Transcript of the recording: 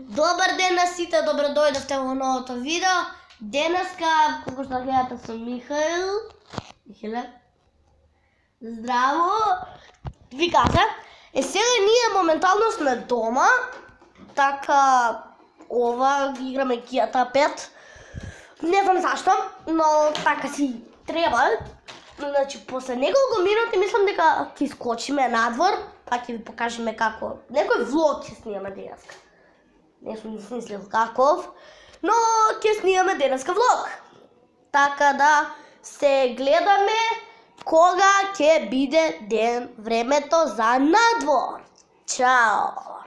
Добар ден на сите, добро дојдовте во новото видео. Денеска, како што гледате, сум Михаил. Михаиле. Здраво. Ви кажа, сега ние моментално сме дома. Така, ова играме GTA 5. Не знам зашто, но така си треба. Значи, после неколку минути мислам дека ќе искочиме надвор, па ќе ви покажеме како. Некој влог ќе снимаме денеска. Не сум измислил каков, но ќе снимаме денеска влог. Така да се гледаме кога ќе биде ден времето за надвор. Чао!